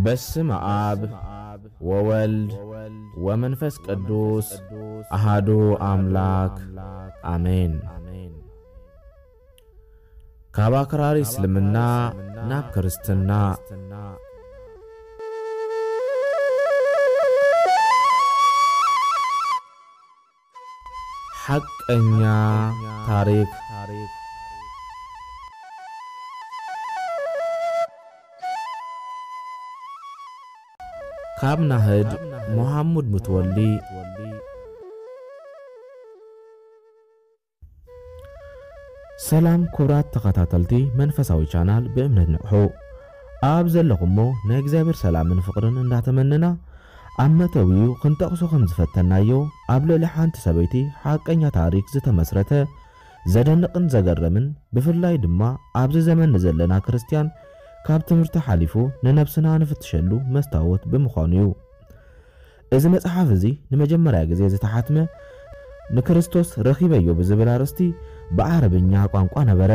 በስመ አብ ወወልድ ወመንፈስ ቅዱስ አሃዱ አምላክ አሜን። ካብ ኣክራሪ እስልምና ናብ ክርስትና። ሓቀኛ ታሪክ። ካብ ናህድ መሓሙድ ሙትወሊ። ሰላም ክቡራት ተኸታተልቲ መንፈሳዊ ቻናል ብእምነት ንቕሑ። ኣብ ዘለኹሞ ናይ እግዚኣብሔር ሰላምን ፍቕርን እንዳተመነና፣ ኣብ መእተዊኡ ክንጠቕሶ ከም ዝፈተናዮ፣ ኣብ ልዕሊ ሓንቲ ሰበይቲ ሓቀኛ ታሪክ ዝተመስረተ ዘደንቕን ዘገርምን፣ ብፍላይ ድማ ኣብዚ ዘመን ንዘለና ክርስትያን ካብ ትምህርቲ ሓሊፉ ንነብስና ንፍትሸሉ መስታወት ብምዃኑ እዩ። እዚ መጽሓፍ እዚ ንመጀመርያ ግዜ ዝተሓትመ ንክርስቶስ ረኺበዮ ብዝብል ኣርእስቲ ብዓረብኛ ቋንቋ ነበረ።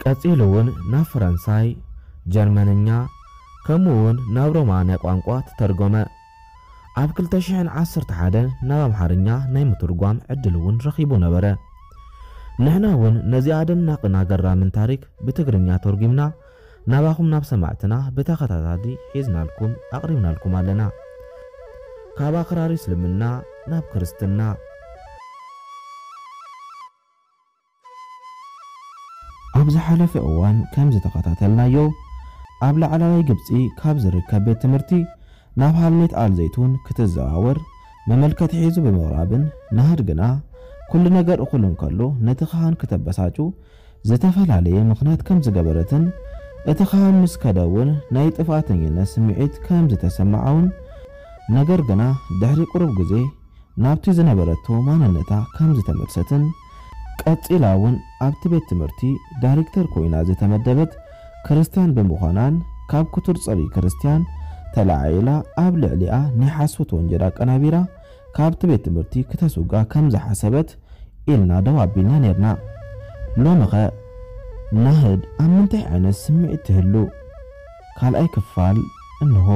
ቀጺሉ እውን ናብ ፈረንሳይ፣ ጀርመንኛ፣ ከምኡ እውን ናብ ሮማንያ ቋንቋ ተተርጎመ። ኣብ ክልተ ሽሕን ዓሰርተ ሓደን ናብ ኣምሓርኛ ናይ ምትርጓም ዕድል እውን ረኺቡ ነበረ። ንሕና እውን ነዚ ኣደናቕን ኣገራምን ታሪክ ብትግርኛ ተርጒምና ናባኹም ናብ ሰማዕትና ብተኸታታሊ ሒዝናልኩም ኣቕሪብናልኩም ኣለና። ካብ ኣክራሪ እስልምና ናብ ክርስትና። ኣብ ዝሓለፈ እዋን ከም ዝተኸታተልናዮ፣ ኣብ ላዕላዋይ ግብጺ ካብ ዝርከብ ቤት ትምህርቲ ናብ ሃልሜት ኣል ዘይቱን ክትዘዋወር መመልከቲ ሒዙ ብምቕራብን፣ ናህድ ግና ኩሉ ነገር እኹል እንከሎ ነቲ ካህን ክተበሳጩ ዝተፈላለየ ምኽንያት ከም ዝገበረትን፣ እቲ ካህን ምስ ከደ እውን ናይ ጥፋተኝነት ስምዒት ከም ዝተሰምዓ እውን፣ ነገር ግና ድሕሪ ቁሩብ ግዜ ናብቲ ዝነበረቶ ማንነታ ከም ዝተመልሰትን፣ ቀጺላ እውን ኣብቲ ቤት ትምህርቲ ዳይሬክተር ኮይና ዝተመደበት ክርስትያን ብምዃናን፣ ካብ ክቱር ጽልኢ ክርስትያን ተለዓዒላ ኣብ ልዕሊኣ ናይ ሓሶት ወንጀል ኣቀናቢራ ካብቲ ቤት ትምህርቲ ክተስውጋ ከም ዝሓሰበት ኢልና ደው ኣቢልና ኔርና። ሎምኸ ናህድ ኣብ ምንታይ ዓይነት ስምዒት ትህሉ? ካልኣይ ክፋል እንሆ።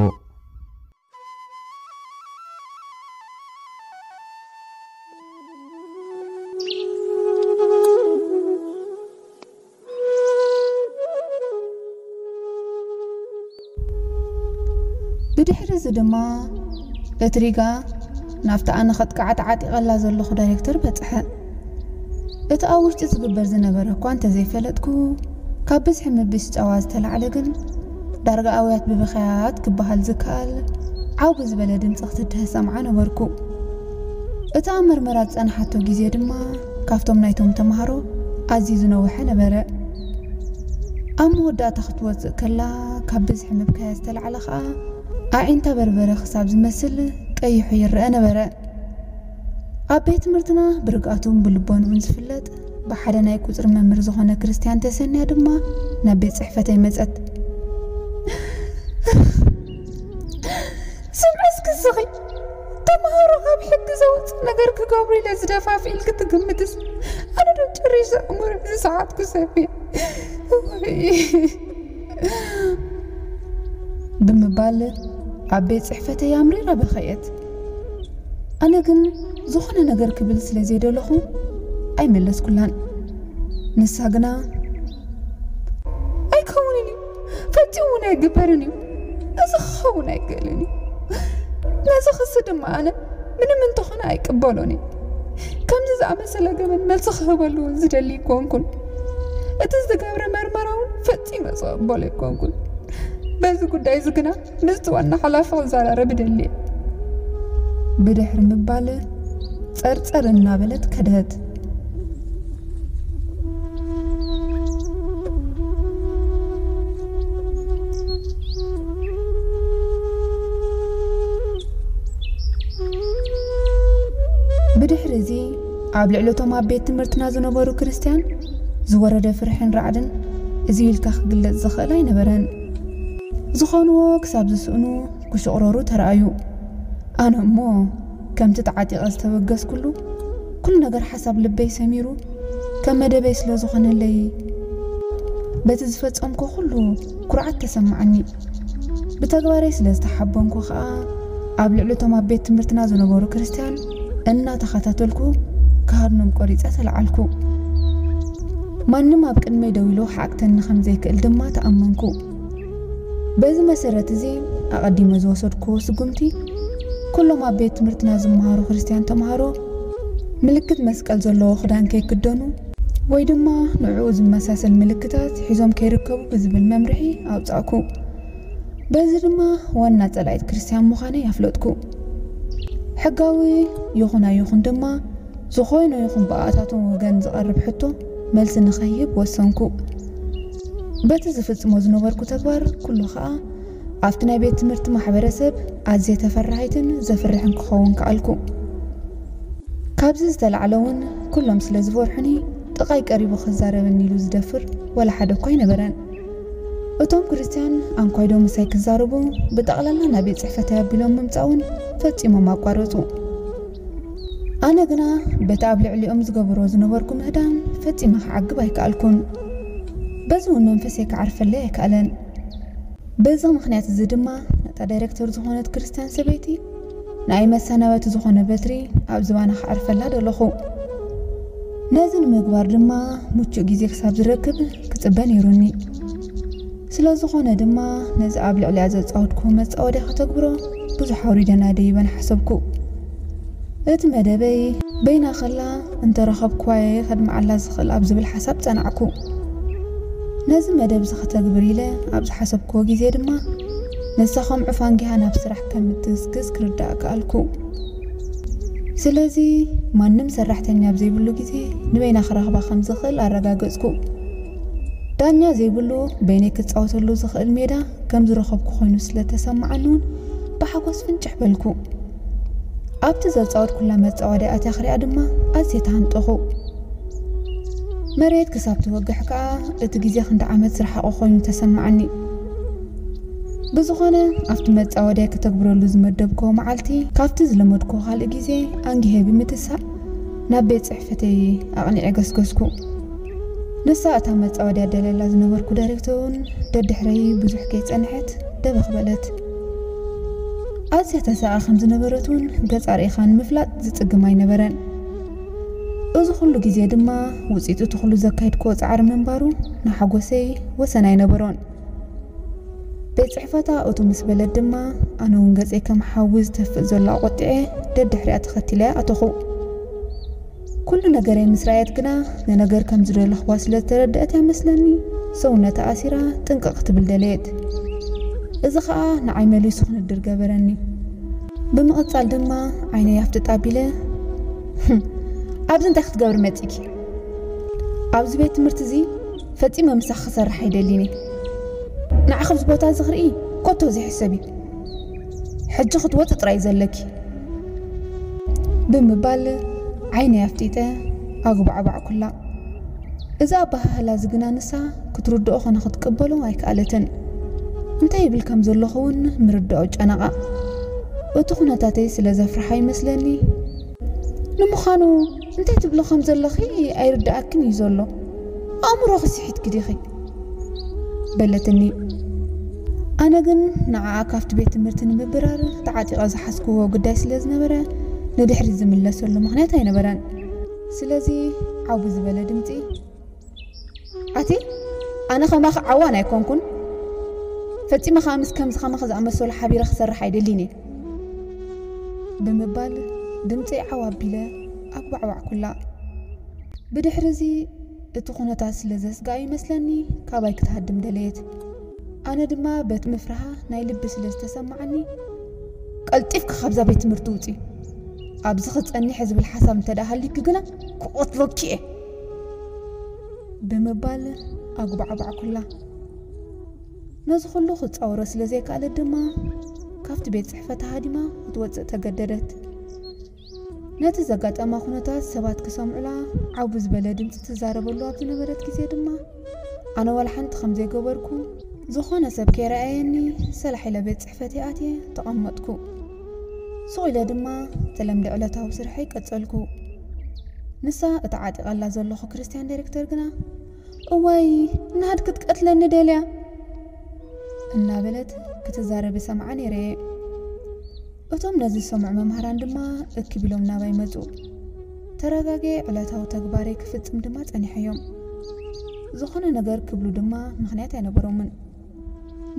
ብድሕሪ እዚ ድማ እቲ ሪጋ ናብቲ ኣነ ከጥቅዓ ተዓጢቐላ ዘለኹ ዳይሬክተር በጽሐ። እቲ ኣብ ውሽጢ ዝግበር ዝነበረ እኳ እንተዘይፈለጥኩ፣ ካብ ብዝሒ ምብስጫዋ ዝተላዕለ ግን ዳርጋ ኣውያት ብብኽያት ክበሃል ዝከኣል ዓው ብዝበለ ድምፂ ክትድሀ ሰምዓ ነበርኩ። እቲ ኣብ መርመራ ዝጸንሓቶ ግዜ ድማ ካብቶም ናይቶም ተምሃሮ ኣዝዩ ዝነውሐ ነበረ። ኣብ መወዳእታ ክትወጽእ ከላ ካብ ብዝሒ ምብካያ ዝተላዕለ ኸኣ ኣዒንታ በርበረ ክሳብ ዝመስል ቀይሑ ይረአ ነበረ። ኣብ ቤት ትምህርትና ብርግኣቱን ብልቦንኡን ዝፍለጥ ብሓደ ናይ ቁጽሪ መምህር ዝኾነ ክርስትያን ተሰንያ ድማ ናብ ቤት ጽሕፈተይ መጸት። ስምዒ እስኪ ስኺ፣ ተምሃሮ ካብ ሕጊ ዘውጽእ ነገር ክገብሩ ኢለ ዝደፋፍእ ኢልኪ ትግምትስ? ኣነ ዶ ጭሪሽ ዘእምሮ ዝሰዓትኩ ሰብ እየ? ወይ! ብምባል ኣብ ቤት ጽሕፈተይ ኣምሪራ በኸየት። ኣነ ግን ዝኾነ ነገር ክብል ስለ ዘይደለኹ ኣይመለስኩላን። ንሳ ግና፣ "ኣይከውንን እዩ፣ ፈጺሙ እውን ኣይግበርን እዩ፣ እዚ ክኸውን ኣይክእልን እዩ። ነዚ ክሲ ድማ ኣነ ምንም እንተኾነ ኣይቅበሎን እየ። ከምዚ ዝኣመሰለ ገበን መልሲ ክህበሉ እውን ዝደሊ ኣይኮንኩን። እቲ ዝተገብረ መርመራ እውን ፈጺመ ዝቕበሎ ኣይኮንኩን። በዚ ጉዳይ እዚ ግና ምስቲ ዋና ሓላፊ ክዘራረብ እደሊ እየ" ብድሕሪ ምባል ጸርጸር እናበለት ከደት። ብድሕሪ እዚ ኣብ ልዕሊ እቶም ኣብ ቤት ትምህርትና ዝነበሩ ክርስትያን ዝወረደ ፍርሕን ራዕድን እዚ ኢልካ ክግለጽ ዝኽእል ኣይነበረን። ዝኾንዎ ክሳብ ዝስእኑ ክሽቕረሩ ተራእዩ። ኣነ እሞ ከምቲ ተዓጢቐ ዝተበገስኩሉ ኩሉ ነገር ሓሳብ ልበይ ሰሚሩ ከም መደበይ ስለ ዝኾነለይ በቲ ዝፈጸምኩ ኩሉ ኩርዓት ተሰማዓኒ። ብተግባረይ ስለ ዝተሓበንኩ ኸኣ ኣብ ልዕሊ እቶም ኣብ ቤት ትምህርትና ዝነበሩ ክርስትያን እናተኸታተልኩ ክሃድኖም ቆሪጸ ተለዓልኩ። ማንም ኣብ ቅድመይ ደው ኢሉ ክዓግተኒ ከም ዘይክእል ድማ ተኣመንኩ። በዚ መሰረት እዚ ኣቐዲመ ዝወሰድኩዎ ስጉምቲ፣ ኩሎም ኣብ ቤት ትምህርትና ዝመሃሩ ክርስትያን ተምሃሮ ምልክት መስቀል ዘለዎ ክዳን ከይክደኑ ወይ ድማ ንዕኡ ዝመሳሰል ምልክታት ሒዞም ከይርከቡ ብዝብል መምርሒ ኣውጻእኩ። በዚ ድማ ዋና ጸላኢት ክርስትያን ምዃነይ ኣፍለጥኩ። ሕጋዊ ይኹን ኣይኹን ድማ ዝኾይኑ ይኹን ብኣታቶም ወገን ዝቐርብ ሕቶ መልሲ ንኸይህብ ወሰንኩ። በቲ ዝፍጽሞ ዝነበርኩ ተግባር ኩሉ ኸኣ ኣብቲ ናይ ቤት ትምህርቲ ማሕበረሰብ ኣዝየ ተፈራሃይትን ዘፍርሕን ክኸውን ከኣልኩ። ካብዚ ዝተላዕለ እውን ኩሎም ስለ ዝፈርሑኒ ጥቓይ ቀሪቡ ክዛረበኒ ኢሉ ዝደፍር ወላ ሓደ እኳ ኣይነበረን። እቶም ክርስትያን ኣንኳይዶ ምሳይ ክዛረቡ ብጠቕላላ ናብ ቤት ጽሕፈተይ ኣቢሎም ምምጻእ እውን ፈጺሞም ኣቋረጹ። ኣነ ግና በቲ ኣብ ልዕሊኦም ዝገብሮ ዝነበርኩ ምህዳን ፈጺመ ክዓግብ ኣይከኣልኩን። በዚ እውን መንፈሰይ ክዓርፈለይ ኣይከኣለን። በዚ ምኽንያት እዚ ድማ ነታ ዳይሬክተር ዝኾነት ክርስትያን ሰበይቲ ንኣይ መሰናበቲ ዝኾነ በትሪ ኣብ ዝባና ክዓርፈላ ደለኹ። ነዚ ንምግባር ድማ ምቹእ ግዜ ክሳብ ዝረክብ ክጽበ ነይሩኒ። ስለ ዝኾነ ድማ ነዚ ኣብ ልዕሊኣ ዘጻወድኩ መጻወድያ ከተግብሮ ብዙሕ ኣውሪደና ደይበን ሓሰብኩ። እቲ መደበይ በይና ከላ እንተረኸብኩዋየ ከድምዓላ ዝኽእል ኣብ ዝብል ሓሳብ ጸናዕኩ። ነዚ መደብ እዚ ከተግብር ኢለ ኣብ ዝሓሰብኩዎ ግዜ ድማ ንሳ ከም ዑፍ ኣንጊሃ ናብ ስራሕ ከም እትግስግስ ክርዳእ ከኣልኩ። ስለዚ ማንም ሰራሕተኛ ኣብ ዘይብሉ ግዜ ንበይና ክረኽባ ከም ዝኽእል ኣረጋገጽኩ። ዳኛ ዘይብሉ በይነይ ክጻወተሉ ዝኽእል ሜዳ ከም ዝረኸብኩ ኮይኑ ስለ ተሰማዓኒ እውን ብሓጎስ ፍንጭሕ በልኩ። ኣብቲ ዘጻወትኩላ መጻወድያ ኣትያ ክሪኣ ድማ ኣዝየ ተሃንጠኹ። መሬት ክሳብ ትወግሕ ከኣ እቲ ግዜ ክንዲ ዓመት ዝረሓቐ ኮይኑ ተሰማዓኒ። ብዝኾነ ኣብቲ መጻወድያ ከተግብረሉ ዝመደብክዎ መዓልቲ ካብቲ ዝለመድክዎ ካልእ ግዜ ኣንጊሀ ብምትሳእ ናብ ቤት ጽሕፈተይ ኣቕኒዐ ገስገስኩ። ንሳ እታ መጻወድያ ደለላ ዝነበርኩ ዳይሬክተር እውን ደድሕረይ ብዙሕ ከይጸንሐት ደበኽ በለት። ኣዝያ ተሳኣ ከም ዝነበረት እውን ገጻ ርኢኻ ንምፍላጥ ዝጽግም ኣይነበረን። እዚ ኩሉ ግዜ ድማ ውጽኢት እቲ ኩሉ ዘካየድክዎ ጻዕሪ ምንባሩ ንሓጎሰይ ወሰን ኣይነበሮን። ቤት ጽሕፈታ እቱ ምስ በለት ድማ ኣነ እውን ገጸይ ከም ሓዊ ዝተፍእ ዘሎ ኣቖጢዐ ደድሕሪኣ ተኸቲለያ ኣተኹ። ኩሉ ነገረይ ምስ ረኣየት ግና ንነገር ከም ዝደለኽዋ ስለ ዝተረድአት እያ መስለኒ ሰውነታ ኣሲራ ጥንቅቕ ክትብል ደለየት። እዚ ኸኣ ንዓይ መሊሱ ክንድር ገበረኒ። ብምቕጻል ድማ ዓይነይ ኣፍጥጥ ኣቢለ፣ "ህም፣ ኣብዚ እንታይ ክትገብሪ መጺእኪ? ኣብዚ ቤት ትምህርቲ እዚ ፈጺመ ምሳኺ ክሰርሕ ኣይደልን እየ። ንዓኺ ኣብዚ ቦታ እዚ ክርኢ ኮቶ ዘይሕሰብ እዩ። ሕጂ ክትወጺ ጥራይ እዩ ዘለኪ" ብምባል ዓይነይ ኣፍጢጠ ኣጉባዕባዕኩላ። እዚ ኣበሃህላ እዚ ግና ንሳ ክትርድኦ ኾነ ክትቅበሎ ኣይከኣለትን። እንታይ ይብል ከም ዘለኹ እውን ምርዳኦ ጨነቓ። እቲ ኩነታተይ ስለ ዘፍርሓ ይመስለኒ፣ "ንምዃኑ እንታይ ትብሎ ከም ዘለኺ ኣይርድኣክን እዩ ዘሎ። ኣእምሮኺ ስሒትኪ ዲኺ?" በለትኒ። ኣነ ግን ንዓኣ ካብቲ ቤት ትምህርቲ ንምብራር ተዓጢቐ ዝሓዝክዎ ጉዳይ ስለ ዝነበረ ንድሕሪት ዝምለሰሉ ምኽንያት ኣይነበረን። ስለዚ ዓው ዝበለ ድምጺ፣ "ኣቲ፣ ኣነ ከማኺ ዓዋን ኣይኮንኩን። ፈጺመ ከኣ ምስ ከምዚ ከማኺ ዝኣመሰሉ ሓቢረ ክሰርሕ ኣይደልን እየ" ብምባል ድምጸይ ዓው ኣቢለ ኣጉባዕባዕኩላ። ብድሕሪ እዚ እቲ ኩነታት ስለ ዘስግኣ ይመስለኒ ካባይ ክትሃድም ደለየት። ኣነ ድማ በቲ ምፍርሃ ናይ ልቢ ስለ ዝተሰማዓኒ፣ "ቀልጢፍኪ ካብዛ ቤት ትምህርቲ ውጺ። ኣብዚ ክጸኒሐ ዝብል ሓሳብ እንተ ደኣ ሃልዩኪ ግና ክቐትለኪ እየ" ብምባል ኣጉባዕባዕኩላ። ነዚ ኩሉ ክጻወሮ ስለ ዘይከኣለት ድማ ካብቲ ቤት ጽሕፈት ተሃዲማ ክትወጽእ ተገደደት። ነቲ ዘጋጠማ ኩነታት ሰባት ክሰምዑላ ዓው ዝበለ ድምጺ ትዛረበሉ ኣብ ዝነበረት ግዜ ድማ ኣነ ዋላ ሓንቲ ከም ዘይገበርኩ፣ ዝኾነ ሰብ ከይረኣየኒ ሰላሕ ኢለ ቤት ጽሕፈተይ ኣትየ ተቐመጥኩ። ሱቕ ኢለ ድማ ተለምደ ዕለታዊ ስርሐይ ቀጸልኩ። ንሳ እታ ዓጢቐላ ዘለኹ ክርስትያን ዳይሬክተር ግና፣ "እዋይ፣ ናሃድ ክትቀትለኒ ደልያ?" እናበለት ክትዛረብ ሰምዓ ነይረ እየ። እቶም ነዚ ዝሰምዑ መምህራን ድማ እክብ ኢሎም ናባይ መጹ። ተረጋጊ ዕለታዊ ተግባረይ ክፍጽም ድማ ጸኒሐዮም። ዝኾነ ነገር ክብሉ ድማ ምኽንያት ኣይነበሮምን።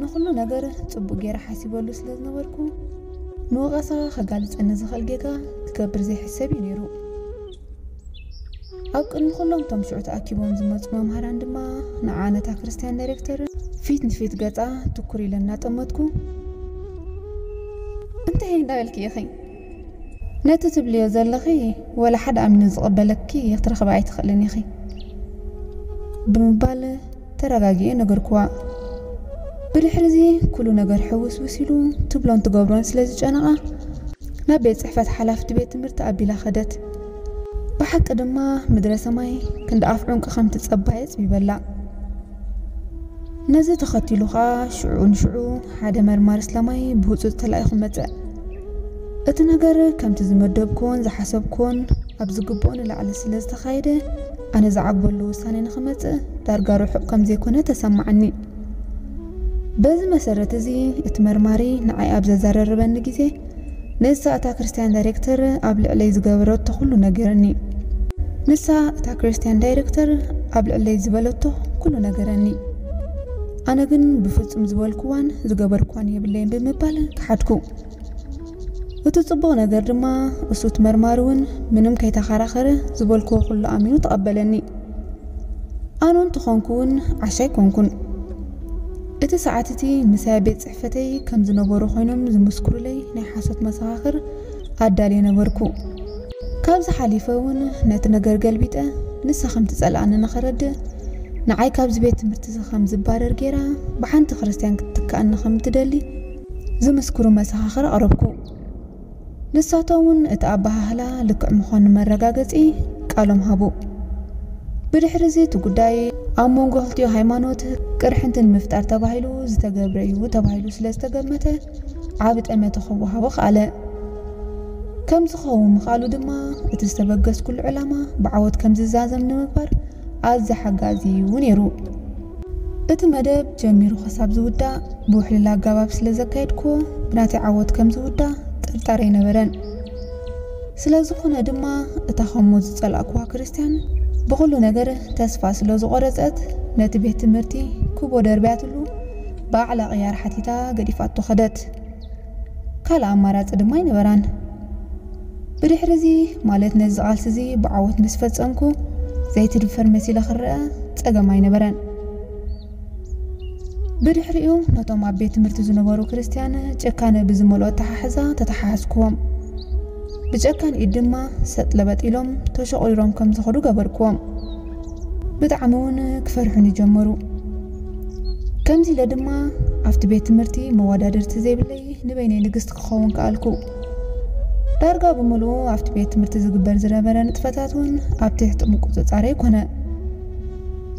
ንኹሉ ነገር ጽቡቕ ገይረ ሓሲበሉ ስለ ዝነበርኩ፣ ንወቐሳ ከጋልጸኒ ዝኽእል ጌጋ ክገብር ዘይሕሰብ እዩ ነይሩ። ኣብ ቅድሚ ኩሎም እቶም ሽዑ ተኣኪቦም ዝመጹ መምሃራን ድማ ንዓ ነታ ክርስትያን ዳይሬክተር ፊት ንፊት ገጻ ትኩር ኢለ እናጠመትኩ፣ "እንታይ እንዳበልኪ ኢኺ? ነቲ ትብልዮ ዘለኺ ወላ ሓደ ኣሚኑ ዝቕበለኪ ክትረኽቢ ኣይትኽእልን ኢኺ" ብምባል ተረጋጊኤ ነገርኩዋ። ብድሕሪ እዚ ኩሉ ነገር ሕውስውስ ኢሉ ትብሎን ትገብሮን ስለ ዝጨነቓ፣ ናብ ቤት ጽሕፈት ሓላፍቲ ቤት ትምህርቲ ኣቢላ ኸደት። ብሓቂ ድማ ምድረ ሰማይ ክንዲ ኣፍ ዑንቂ ከም ትጸባየ ጽቢበላ። ነዚ ተኸቲሉ ኸኣ ሽዑ ንሽዑ ሓደ መርማሪ ስለማይ ብህጹጽ ተላኢኹ መጸ። እቲ ነገር ከምቲ ዝመደብኩዎን ዝሓሰብኩዎን ኣብ ዝግብኦ ንላዕሊ ስለ ዝተኻየደ፣ ኣነ ዝዓግበሉ ውሳነ ንኽመጽእ ዳርጋ ርሑቕ ከም ዘይኮነ ተሰማዓኒ። በዚ መሰረት እዚ እቲ መርማሪ ንዓይ ኣብ ዘዘራረበኒ ግዜ፣ ንሳ እታ ክርስትያን ዳይሬክተር ኣብ ልዕለይ ዝገበረቶ ኩሉ ነገረኒ። ንሳ እታ ክርስትያን ዳይሬክተር ኣብ ልዕለይ ዝበለቶ ኩሉ ነገረኒ። ኣነ ግን ብፍጹም ዝበልኩዋን ዝገበርኩዋን የብለይን ብምባል ከሓድኩ። እቲ ጽቡቕ ነገር ድማ፣ እሱ እቲ መርማሪ እውን ምንም ከይተኸራኸረ ዝበልኩዎ ኩሉ ኣሚኑ ተቐበለኒ። ኣነ እንተኾንኩ እውን ዓሻ ኣይኮንኩን። እቲ ሰዓት እቲ ምሳይ ኣብ ቤት ጽሕፈተይ ከም ዝነበሩ ኮይኖም ዝምስክሩለይ ናይ ሓሶት መሰኻኽር ኣዳልየ ነበርኩ። ካብዚ ሓሊፈ እውን ነቲ ነገር ገልቢጠ ንሳ ከም ትጸልኣኒ ንኸረድእ፣ ንዓይ ካብዚ ቤት ትምህርቲ እዚ ከም ዝባረር ገይራ ብሓንቲ ክርስትያን ክትትክኣኒ ከም እትደሊ ዝምስክሩ መሰኻኽር ኣቕረብኩ። ንሳቶም እውን እቲ ኣበሃህላ ልክዕ ምዃኑ መረጋገጺ ቃሎም ሃቡ። ብድሕሪ እዚ እቲ ጉዳይ ኣብ መንጎ ክልቲኡ ሃይማኖት ቅርሕንቲ ንምፍጣር ተባሂሉ ዝተገብረ እዩ ተባሂሉ ስለ ዝተገመተ፣ ዓቢ ጠመተ ክወሃቦ ከኣለ። ከም ዝኸውን ምኽኣሉ ድማ፣ እቲ ዝተበገስኩሉ ዕላማ ብዓወት ከም ዝዛዘም ንምግባር ኣዝዩ ሓጋዚ እዩ ነይሩ። እቲ መደብ ጀሚሩ ክሳብ ዝውዳእ ብውሕልል ኣገባብ ስለ ዘካየድኩዎ፣ ብናተይ ዓወት ከም ዝውዳእ ጥርጣረ ኣይነበረን። ስለ ዝኾነ ድማ፣ እታ ከምኡ ዝጸላእኩዋ ክርስትያን ብኹሉ ነገር ተስፋ ስለ ዝቖረጸት፣ ነቲ ቤት ትምህርቲ ክቦ ደርብያትሉ፣ ባዕላ ቅያር ሓቲታ ገዲፋቶ ከደት። ካልእ ኣማራጺ ድማ ኣይነበራን። ብድሕሪ እዚ፣ ማለት ነዚ ቃልሲ እዚ ብዓወት ምስ ፈጸምኩ፣ ዘይትድፈር መሲለ ክረኣ ጸገም ኣይነበረን። ብድሕሪኡ፣ ነቶም ኣብ ቤት ትምህርቲ ዝነበሩ ክርስትያን ጭካነ ብዝመልኦ ኣተሓሕዛ ተተሓሓዝኩዎም። ብጨካን ኢድ ድማ ሰጥ ለበጥ ኢሎም ተሸቑሪሮም ከም ዝኸዱ ገበርኩዎም። ብጣዕሚ እውን ክፈርሑኒ ጀመሩ። ከምዚ ኢለ ድማ ኣብቲ ቤት ትምህርቲ መወዳድርቲ ዘይብለይ ንበይነይ ንግስቲ ክኸውን ከኣልኩ። ዳርጋ ብምሉኡ ኣብቲ ቤት ትምህርቲ ዝግበር ዝነበረ ንጥፈታት እውን ኣብ ትሕቲ ምቁጽጻረይ ኮነ።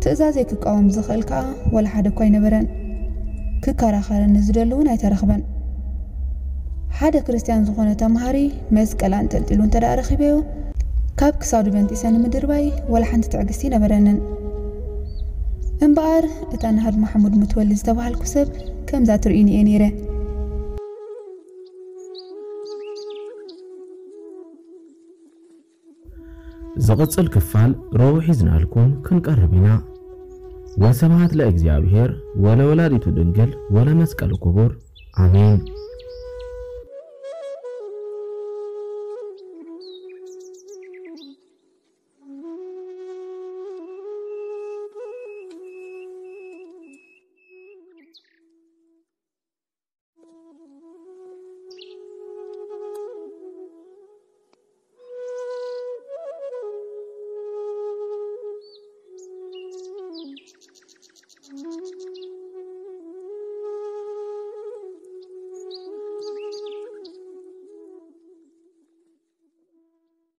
ትእዛዘይ ክቃወም ዝኽእል ከኣ ወላ ሓደ እኳ ኣይነበረን። ክከራኸረኒ ዝደሊ እውን ኣይተረኽበን። ሓደ ክርስትያን ዝኾነ ተምሃሪ መስቀል ኣንጠልጢሉ እንተ ደኣ ረኺበዮ፣ ካብ ክሳዱ በንጢሰ ንምድርባይ ወላ ሓንቲ ትዕግስቲ ኣይነበረንን። እምበኣር፣ እታ ንሃድ ማሕሙድ ሙትወሊ ዝተባሃልኩ ሰብ ከምዛ ትርእዩኒ እየ ነይረ። ዝቕጽል ክፋል ረቡዕ ሒዝናልኩም ክንቀርብ ኢና። ወስብሐት ለእግዚኣብሔር ወለወላዲቱ ድንግል ወለመስቀሉ ክቡር። ኣሜን።